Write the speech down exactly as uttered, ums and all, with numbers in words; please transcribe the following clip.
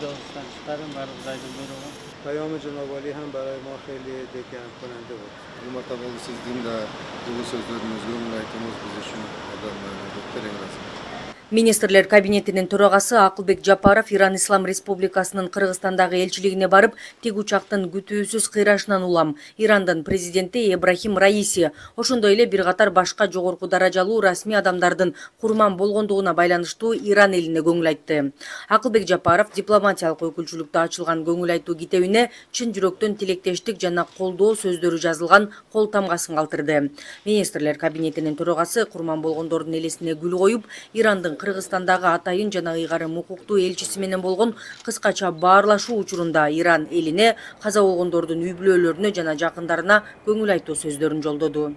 dostlarım barbur aydın buyruğu. پیام جناب عالی هم برای ما خیلی دلگرم کننده بود. Hurmatli sizдің de жылы сөздеріңізге оңай айтыңыз біз үшін адам өттереңіз. Министрлер кабинетинин төрагасы Акылбек Жапаров Иран Ислам Республикасынын Кыргызстандагы элчилигине барып, тик учактын күтүүсүз кыйрашынан улам Ирандын президенти Ибрахим Раиси, ошондой эле бир катар башка жогорку даражалуу расмий адамдардын курман болгондугуна байланыштуу Иран элине көңүл айтты. Акылбек Жапаров дипломатиялык өкүлчүлүктө ачылган көңүл айтуу китебине чын жүрөктөн тилектештик жана колдоо сөздөрү жазылган кол тамгасын калтырды. Министрлер кабинетинин төрагасы курман болгондордун элесине гүл коюп, Ирандын Кыргызстандагы атайын жана ыйгарым укуктуу элчиси менен болгон кыскача баарлашуу учурунда Иран элине каза болгондордун үй бүлөлөрүнө жана жакындарына көңүл айтуу сөздөрүн жолдоду.